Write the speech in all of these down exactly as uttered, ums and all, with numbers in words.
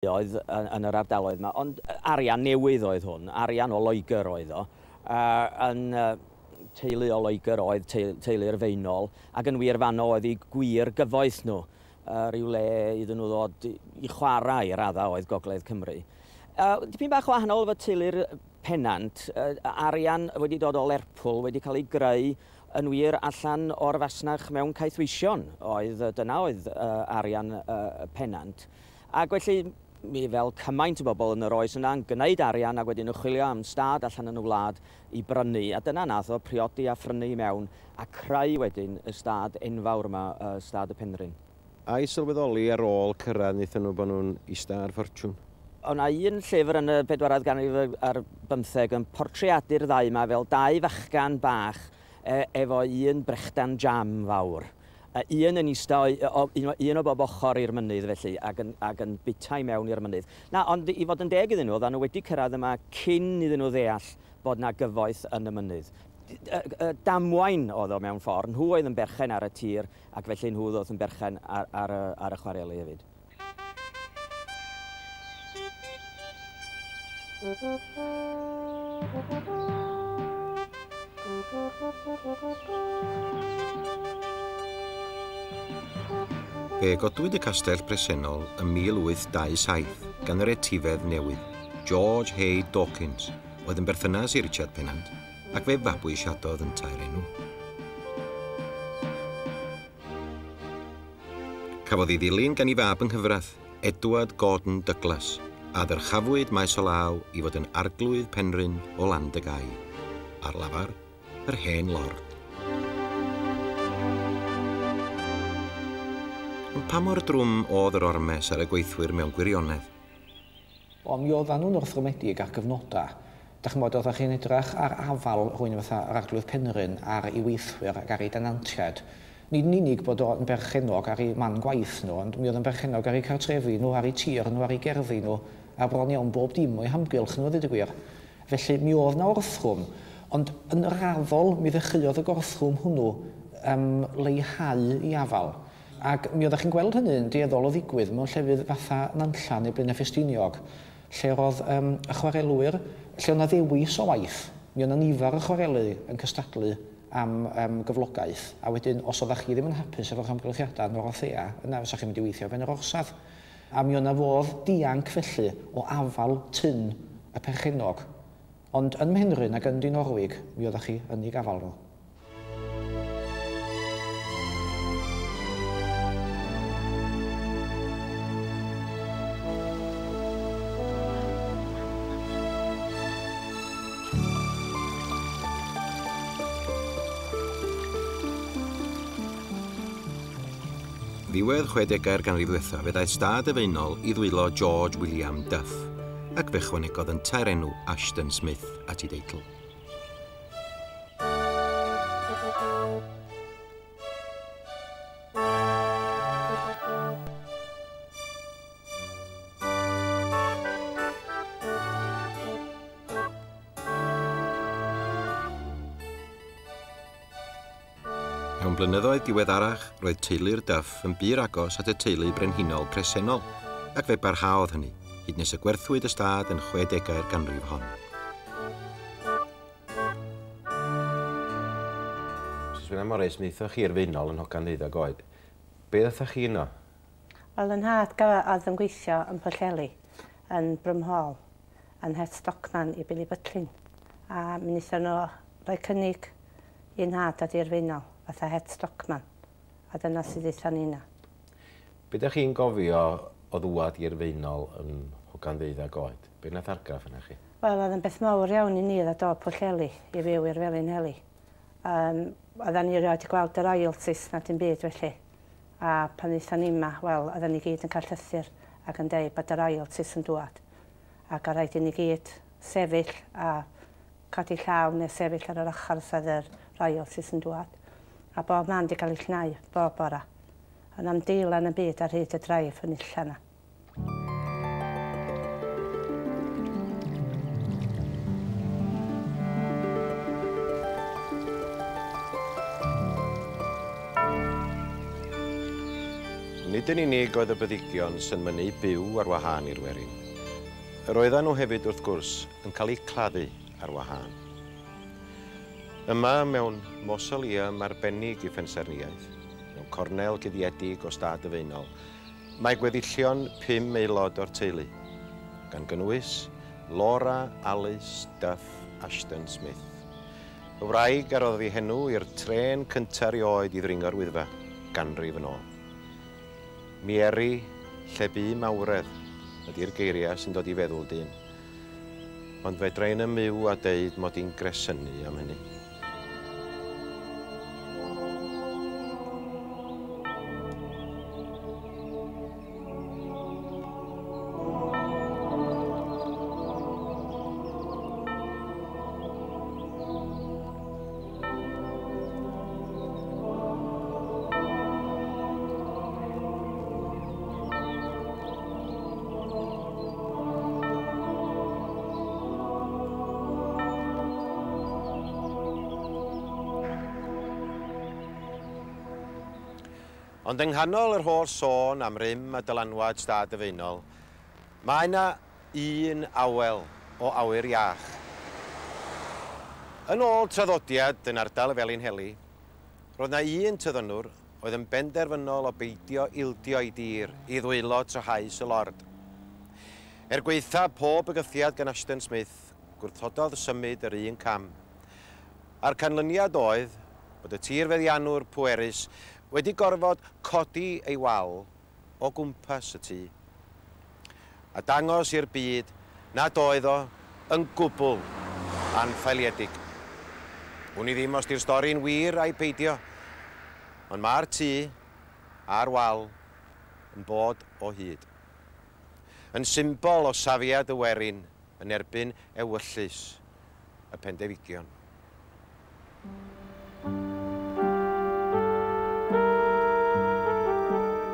Oedd yn, yn yr ardaloedd yma, ond arian newydd oedd hwn, arian o Loegr oedd o, uh, yn uh, teulu o Loegr oedd teulu'r Faenol, ac yn wir fanno oedd eu gwir gyfoeth nhw, uh, rhyw le iddyn nhw ddod i chwarae i raddau oedd Gogledd Cymru. Uh, dipyn bach wahanol efo teulu'r Pennant, uh, arian wedi dod o Lerpwl, wedi cael ei greu yn wir allan o'r fasnach mewn caethweision, oedd, dyna oedd uh, arian uh, Pennant. Ac felly, mi fel cymaint o bobl yn yr oes yna yn gwneud arian ac wedyn yn chwilio am stad allan yn y wlad i brynu. A dyna nath o priodi a phrynu i mewn a creu wedyn y stad enfawr yma, stad y Penrhyn. A'i sylweddoli ar ôl cyrraedd wnaethon nhw bod nhw'n ista ar ffortiwn? O' 'na un llyfr yn y bedwaredd ganrif ar bymtheg yn portreadu'r ddau yma fel dau fachgan bach e, efo un brechdan jam fawr. Un yn ista, un o bob ochr i'r mynydd felly, ac yn, ac yn bita i mewn i'r mynydd. Na, ond i fod yn deg iddyn nhw, oedden nhw wedi cyrraedd yma cyn iddyn nhw ddeall bod na gyfoeth yn y mynydd. Damwain oedd o mewn ffordd, nhw oedd yn berchen ar y tir, ac felly nhw oedd yn berchen ar, ar, ar y chwareli hefyd. Fe godwyd y castell presennol ym mil wyth dau saith gan yr etifedd newydd, George Hay Dawkins, oedd yn berthynas i Richard Pennant, ac fe fabwysiadodd yntau'r enw. Cafodd ei ddilyn gan ei fab yng nghyfraith, Edward Gordon Douglas, a ddyrchafwyd maes o law i fod yn arglwydd Penrhyn o Landygai, ar lafar, yr hen lord. Ond pa mor drwm oedd yr ormes ar y gweithwyr mewn gwirionedd? O, mi oedden nhw'n orthrymedig ar gyfnodau. Dach chi'n bod, oeddech chi'n edrych ar afal rhywun fatha yr arglwydd Penrhyn ar ei weithwyr ac ar ei denantiaid. Nid yn unig bod o'n berchennog ar ei man gwaith nhw, ond mi oedd yn berchennog ar eu cartrefi nhw, ar eu tir nhw, ar eu gerddi nhw, a bron iawn bob dim o'i hamgylch nhw, ddweud y gwir. Felly mi oedd 'na orthrwm, ond yn raddol mi ddechreuodd y gorthrwm hwnnw um, leihau i afal. Ac mi oeddech chi'n gweld hynny'n dueddol o ddigwydd mewn llefydd fatha Nantlla neu Blaenau Ffestiniog, lle roedd um, y chwarelwyr, lle oedd 'na ddewis o waith, mi oedd 'na nifer o chwarelu yn cystadlu am um, gyflogaeth, a wedyn os oeddech chi ddim yn hapus efo'ch amgylchiadau yn Dorothea, yna fysa chi'n mynd i weithio ben yr orsaf. A mi oedd 'na fodd dianc felly o afal tyn y perchennog. Ond yn Mhenrhyn ac yn Dinorwig, mi oeddech chi yn ei gafal nhw. Ddiwedd chwedegau'r ganrif ddiwethaf fe ddaeth stad y Faenol i ddwylo George William Duff, ac fe chwanegodd yntau'r enw Ashton Smith at ei deitl. Mewn blynyddoedd diweddarach, roedd teulu'r Duff yn bur agos at y teulu brenhinol presennol, ac fe barhaodd hynny, hyd nes y gwerthwyd y stad yn chwedegau'r ganrif hon. Misus William Morris, mi aethoch chi'r Faenol yn hogan ddeuddeg oed. Be ddathoch chi yno? Wel, yn nhad oedd yn gweithio yn Pwllheli, yn Brymhall, yn head stockman i Billy Butlin. A mi wnaethon nhw rhoi cynnig i nhad dod i'r Faenol, fatha head stockman, a dyna sydd aethon ni yna. Be ydych chi'n gofio o ddwad i'r Faenol yn hogan ddeuddeg oed? Be nath argraff yna chi? Wel, oedd yn beth mawr iawn i ni ddod o Pwllheli i fyw i'r Felinheli. Um, oedden ni erioed wedi gweld y royalties na dim byd felly. A pan aethon ni yma, wel, oedden ni gyd yn cael llythyr ac yn deud bod y royalties yn dŵad. Ac o rhaid i ni gyd sefyll a codi llaw neu sefyll ar yr ochr os oedd yr royalties yn dŵad. A bob man wedi cael ei llnau, bob bora. Ond am deilan y byd ar hyd y draif yn illa yna. Nid yn unig oedd y byddigion sy'n mynnu byw ar wahân i'r werin. Yr oedden nhw hefyd, wrth gwrs, yn cael eu claddu ar wahân. Yma, mewn mausoleum arbennig i phensaernïaeth, mewn cornel guddiedig o stad y Faenol, mae gweddillion pum aelod o'r teulu, gan gynnwys Laura Alice Duff Ashton Smith. Y wraig a roddodd ei henw i'r trên cyntaf erioed i ddringo'r Wyddfa, ganrif yn ôl. Mieri, lle bu mawredd, ydy'r geiriau sy'n dod i feddwl dyn. Ond fedra i ddim myw a deud mod i'n gresynu am hynny. Ond yng nghanol yr holl sôn am rym a dylanwad stad y Faenol, mae yna un awel o awyr iach. Yn ôl traddodiad yn ardal y Felinheli, roedd yna un tyddynwr oedd yn benderfynol o beidio ildio ei dir i ddwylo trahaus y lord. Er gwaetha pob bygythiad gan Ashton Smith, gwrthododd symud yr un cam. A'r canlyniad oedd bod y tirfeddiannwr pwerus wedi gorfod codi ei wal o gwmpas y tŷ, a dangos i'r byd nad oedd o yn gwbl anffaeliedig. Wn i ddim os di'r stori'n wir a'i peidio, ond mae'r tŷ a'r wal yn bod o hyd. Yn symbol o safiad y werin yn erbyn ewyllys y pendefigion.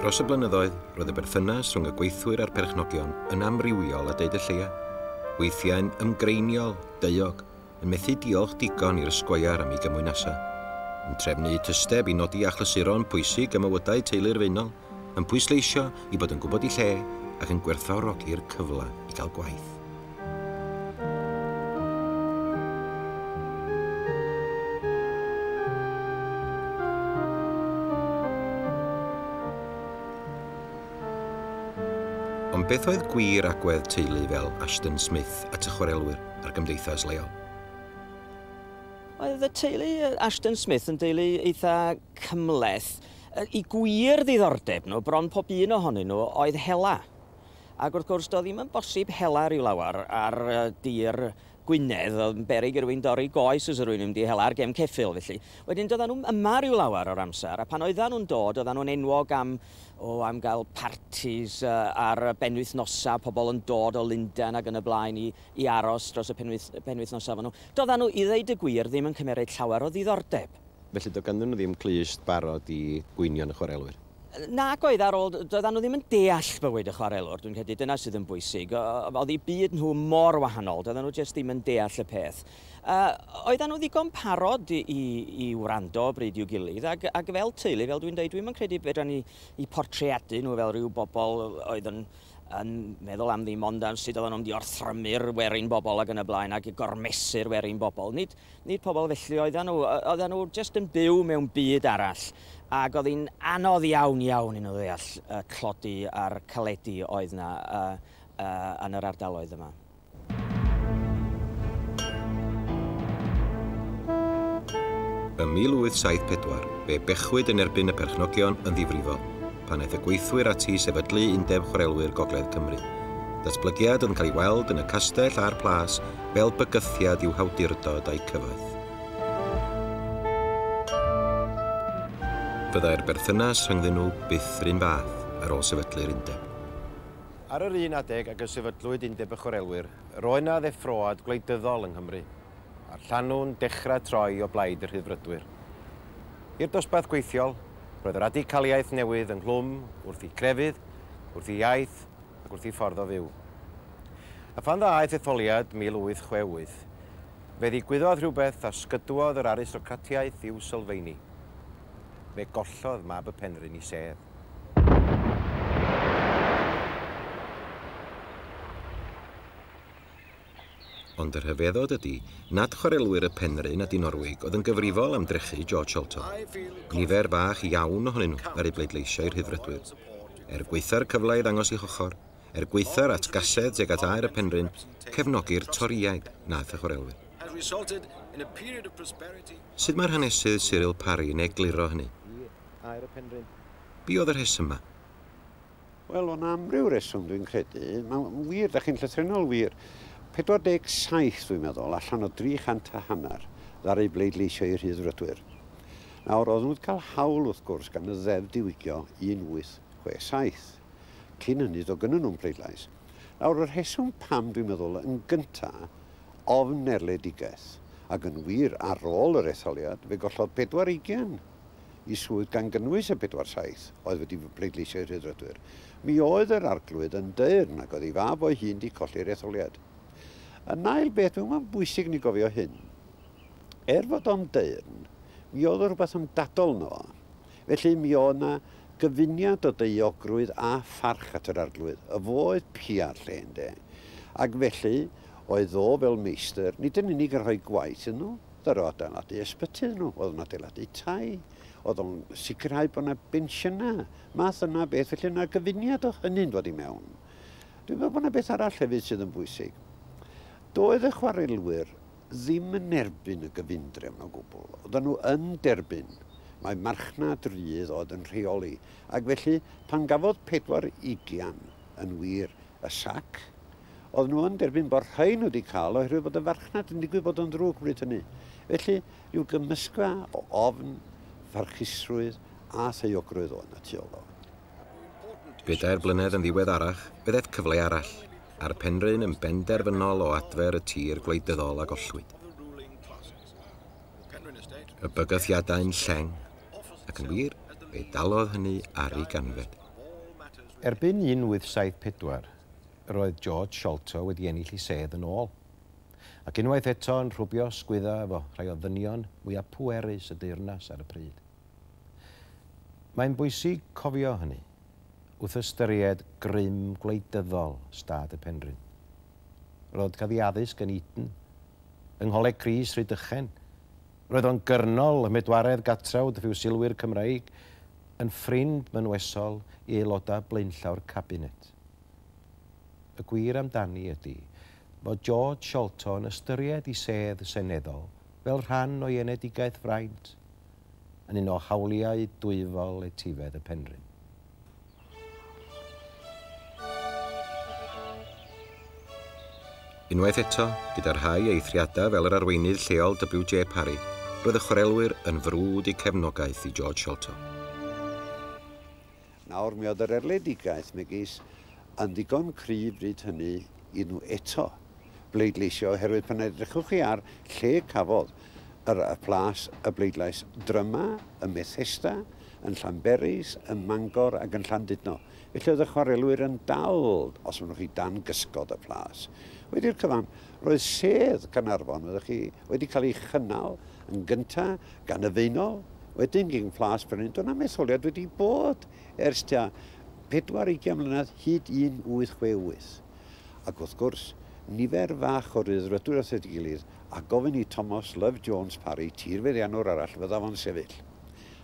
Dros y blynyddoedd, roedd y berthynas rhwng y gweithwyr a'r perchnogion yn amrywiol a deud y lleia. Weithiau'n ymgreiniol, deuog, yn methu diolch digon i'r sgweiar am ei gymwynasau. Yn trefnu tysteb i nodi achlysuron pwysig ym mywydau teulu'r Faenol, yn pwysleisio i bod yn gwybod ei lle ac yn gwerthfawrogi'r cyfle i gael gwaith. Ond beth oedd gwir agwedd teulu fel Ashton Smith at y chwarelwyr a'r gymdeithas leol? Oedd y teulu Ashton Smith yn deulu eitha cymhleth. I gwir ddiddordeb nhw, bron pob un ohonyn nhw, oedd hela. Ac wrth gwrs, doedd ddim yn bosib hela rhyw lawer ar dir Gwynedd, oedd yn beryg i rywun dorri goes os rywun yn mynd i hela ar gem ceffyl, felly. Wedyn doedden nhw yma rhyw lawer o'r amser, a pan oedden nhw'n dod, oedden nhw'n enwog am, o, am gael partis uh, ar benwythnosau, pobl yn dod o Lundain ac yn y blaen i, i aros dros y penwyth, penwythnosau efo nhw. Doedden nhw, i ddeud y gwir, ddim yn cymeryd llawer o ddiddordeb. Felly doedd ganddyn nhw ddim clust barod i gwynion y chwarelwyr? Nag oedd ar ôl, doedden nhw ddim yn deall bywyd y chwarelwr, dwi'n credu dyna sydd yn bwysig. Oedd eu byd nhw mor wahanol, doedden nhw jyst ddim yn deall y peth. Uh, oedden nhw ddigon parod i, i, i wrando bryd i'w gilydd, ac, ac fel teulu, fel dwi'n dweud, dwi'm yn credu fedran ni i portreadu nhw fel rhyw bobl oedd yn, yn meddwl am ddim ond am sut oedden nhw'n mynd i orthrymu'r werin bobl ac yn y blaen ac i gormesu'r werin bobl. Nid, nid pobl felly oedden nhw, oedden nhw jyst yn byw mewn byd arall. Ac oedd hi'n anodd iawn iawn i nhw ddeall y tlodi a'r caledi oedd yna uh, uh, yn yr ardaloedd yma. Ym mil wyth saith pedwar, fe bechwyd yn erbyn y perchnogion yn ddifrifol, pan aeth y gweithwyr ati i sefydlu Undeb Chwarelwyr Gogledd Cymru. Datblygiad oedd yn cael ei weld yn y castell a'r plas fel bygythiad i'w hawdurdod a'i cyfoeth. Fyddai'r berthynas rhyngddyn nhw byth yr un fath ar ôl sefydlu'r undeb. Ar yr un adeg ag y sefydlwyd Undeb y Chwarelwyr, roedd yna ddeffroad gwleidyddol yng Nghymru, a'r llanw'n dechrau troi o blaid y Rhyddfrydwyr. I'r dosbarth gweithiol, roedd y radicaliaeth newydd ynghlwm wrth i crefydd, wrth i iaith ac wrth i ffordd o fyw. A phan ddaeth etholiad mil wyth chwe wyth, fe ddigwyddodd rhywbeth a sgydwodd yr aristocratiaeth i'w sylfaeni. Fe gollodd mab y Penrhyn i sedd. Ond y rhyfeddod ydy nad chwarelwyr y Penrhyn a Dinorwig oedd yn gyfrifol am drechu George Sholto. Nifer fach iawn ohonyn nhw ar ei bleidleisio i'r Rhyddfrydwyr. Er gwaetha'r cyfle i ddangos eu hochor, er gwaetha'r atgasedd tuag at aer y Penrhyn, cefnogi'r Torïaid nath y chwarelwyr. Sut mae'r hanesydd Cyril Parry yn egluro hynny? Be oedd y rheswm yma? Wel, o'n amryw reswm dwi'n credu. Mae'n wir, da chi'n llythrennol wir. pedwar deg saith, dwi'n meddwl, allan o dri chant a hanner ddaru bleidleisio i'r Rhyddfrydwyr. Nawr, oedden nhw wedi cael hawl, wrth gwrs, gan y ddeddf diwygio un wyth chwe saith. Cyn hynny, doedd gynnon nhw'n pleidlais. Nawr, y rheswm pam, dwi'n meddwl, yn gynta, ofn erledigaeth. Ac yn wir, ar ôl yr etholiad, fe gollodd pedwar ugain i swydd gan gynnwys y pedwar saith oedd wedi bleidleisio i'r Rhyddfrydwyr. Mi oedd yr arglwydd yn deyrn ac oedd ei fab o'i hun wedi colli'r etholiad. Yn ail beth, mae'n bwysig ni gofio hyn. Er fod o'n deyrn, mi oedd rhywbeth ymdadol yno fo. Felly mi oedd yna gyfuniad o daeogrwydd a pharch at yr arglwydd. Y fo oedd pia'r lle, ynde. Ac felly, oedd o fel meistr, nid yn unig yn rhoi gwaith iddyn nhw, ddaru adeiladu ysbyty iddyn nhw, oedd o'n adeiladu tai, oedd o'n sicrhau bod yna bensiynau, math yna beth, felly yna gyfuniad o hynny'n dod i mewn. Dwi'n meddwl bod yna beth arall hefyd sydd yn bwysig. Doedd y chwarelwyr ddim yn erbyn y gyfundrefn o gwbl. Oedden nhw yn derbyn. Mae marchnad rydd oedd yn rheoli. Ac felly, pan gafodd pedwar ugian yn wir y sac, oedden nhw yn derbyn bod rhai nhw wedi cael oherwydd bod y farchnad yn digwydd bod yn ddrwg bryd hynny. Felly, rhyw gymysgfa o ofn, pharchusrwydd a thaeogrwydd oedd yna tu ôl o. Bedair blynedd yn ddiweddarach, fe ddaeth cyfle arall, a'r Penrhyn yn benderfynol o adfer y tir gwleidyddol a gollwyd. Y bygythiadau'n lleng, ac yn wir, fe dalodd hynny ar ei ganfed. Erbyn un wyth saith pedwar, roedd George Sholto wedi ennill ei sedd yn ôl. Ac unwaith eto yn rhwbio sgwydda efo rhai o ddynion mwyaf pwerus y deyrnas ar y pryd. Mae'n bwysig cofio hynny wrth ystyried grym gwleidyddol stad y Penrhyn. Roedd cael ei addysg yn Eton, yng Ngholeg Crys Rhydychen. Roedd o'n gyrnol ym Medwaredd Gatrawd Ffiwsilwyr Cymreig, yn ffrind mynwesol i aelodau blaenllaw'r cabinet. Y gwir amdani ydy fod George Sholto yn ystyried ei sedd seneddol fel rhan o'i enedigaeth fraint, yn un o hawliau dwyfol etifedd y Penrhyn. Unwaith eto, gyda'r rhai eithriadau fel yr arweinydd lleol W J Parry, roedd y chwarelwyr yn frwd eu cefnogaeth i George Sholto. Nawr, mi oedd yr erledigaeth megis yn ddigon cryf bryd hynny i nhw eto bleidleisio, oherwydd pan edrychwch chi ar lle cafodd yr, y plas y bleidlais dryma, ym Methesda, yn Llanberis, ym Mangor ac yn Llandudno. Felly oedd y chwarelwyr yn dal, os maen nhw chi dan gysgod y plas. Wedi'r cyfan, roedd sedd Caernarfon oeddech chi wedi cael ei chynnal yn gyntaf gan y Faenol, wedyn gan Plas Penrhyn. Doedd na'm etholiad wedi bod ers tua pedwar ugain mlynedd hyd un wyth chwe wyth. Ac wrth gwrs, nifer fach o Ryddfrydwyr wrth ei gilydd a gofyn i Thomas Love Jones Parry, tirfeddiannwr arall, fydda fo'n sefyll.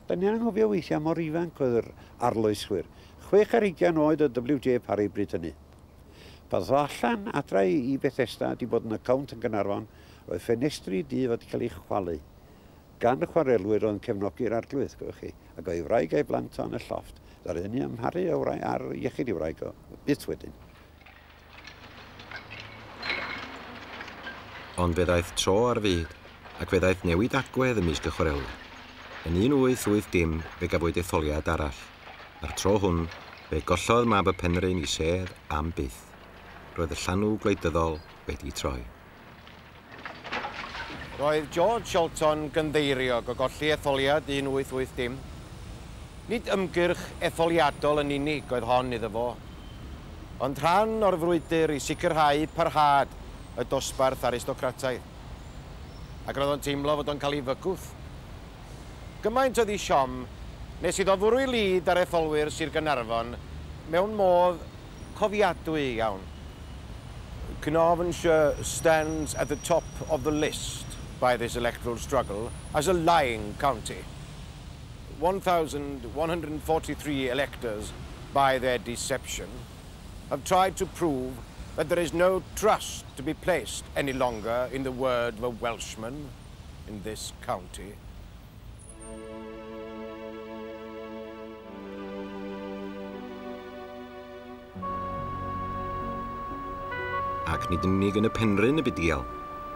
Da ni'n anghofio weithiau mor ifanc oedd yr arloeswyr. Chwech ar hugain oed o W J Parry bryd hynny. Pan ddoth allan adra i Bethesda, di bod yn account yn Gaernarfon, roedd ffenestri du wedi cael ei chwalu gan y chwarelwyr oedd yn cefnogi'r arglwydd, gwelwch chi, ac oedd ei wraig a'i blant o yn y llofft. Ddaru hynny amharu ar iechyd ei wraig o byth wedyn. Ond fe ddaeth tro ar fyd, ac fe ddaeth newid agwedd ymysg y chwarelwyr. Yn un wyth wyth dim, fe gafwyd etholiad arall. A'r tro hwn, fe gollodd mab y Penrhyn i sedd am byth. Roedd y llanw gwleidyddol wedi troi. Roedd George Sholto'n gynddeiriog o golli etholiad un wyth wyth dim. Nid ymgyrch etholiadol yn unig oedd hon iddo fo, ond rhan o'r frwydr i sicrhau parhad y dosbarth aristocrataidd. Ac roedd o'n teimlo fod o'n cael ei fygwth. Gymaint oedd ei siom nes iddo fwrw ei lid ar etholwyr Sir Gaernarfon mewn modd cofiadwy iawn. Carnarvonshire stands at the top of the list by this electoral struggle as a lying county. one thousand one hundred forty-three electors, by their deception, have tried to prove that there is no trust to be placed any longer in the word of a Welshman in this county. Ac nid yn unig yn y Penrhyn y bu dial.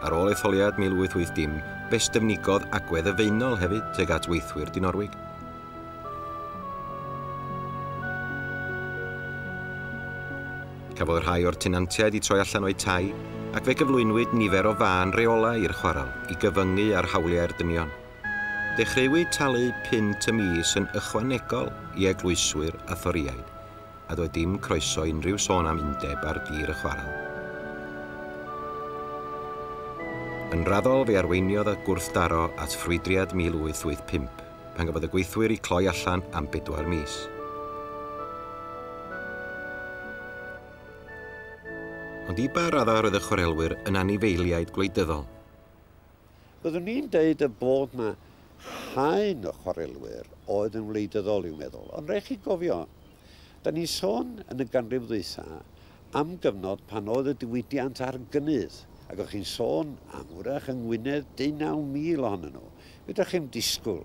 Ar ôl etholiad mil wyth wyth dim, fe styfnigodd agwedd y Faenol hefyd tuag at weithwyr Dinorwig. Cafodd rhai o'r tenantiaid eu troi allan o'u tai, ac fe gyflwynwyd nifer o fân reolau i'r chwarel i gyfyngu ar hawliau'r dynion. Dechreuwyd talu punt y mis yn ychwanegol i eglwyswyr a thoriaid, a doedd dim croeso unrhyw sôn am undeb ar dir y chwarel. Yn raddol fe arweiniodd y gwrthdaro at ffrwydriad mil wyth wyth pump, pan gafodd y gweithwyr eu cloi allan am bedwar mis. Ond i ba raddau roedd y chwarelwyr yn anifeiliaid gwleidyddol? Byddwn ni'n deud y bod na haen o chwarelwyr oedd yn wleidyddol i'w meddwl, ond rhaid chi gofio, da ni'n sôn yn y ganrif ddwytha am gyfnod pan oedd y diwydiant ar gynnydd. Ac o'ch chi'n sôn am wrach yng Ngwynedd deunaw mil ohonyn nhw. Fedrwch chi'm disgwyl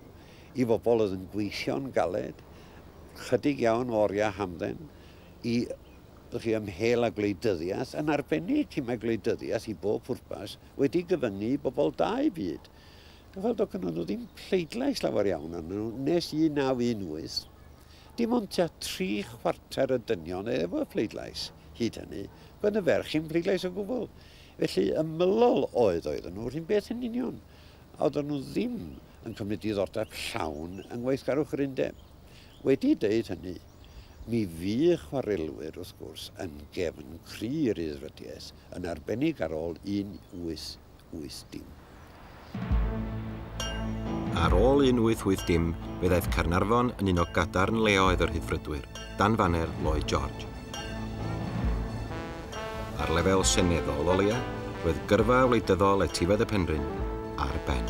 i bobl oedd yn gweithio'n galed, chydig iawn o oriau hamdden, i chi ymhel â gwleidyddiaeth, yn arbennig cyn mae gwleidyddiaeth i bob pwrpas wedi gyfyngu i bobl dau byd. Fel doedd gynnon nhw ddim pleidlais lawer iawn arnyn nhw nes un naw un wyth. Dim ond tua tri chwarter y dynion efo pleidlais hyd hynny, gwedd y ferch i'n pleidlais o gwbl. Felly ymylol oedd oedden nhw, rhywun beth yn union. A oedden nhw ddim yn cymryd diddordeb llawn yng ngweithgarwch yr undeb. Wedi deud hynny, mi fu chwarelwyr, wrth gwrs, yn gefn cry i'r Rhyddfrydiaeth, yn arbennig ar ôl un wyth wyth dim. Ar ôl un wyth wyth dim, fe ddaeth Caernarfon yn un o gadarn leoedd yr Rhyddfrydwyr, dan faner Lloyd George. Ar lefel seneddol o leia, roedd gyrfa wleidyddol etifedd y Penrhyn ar ben.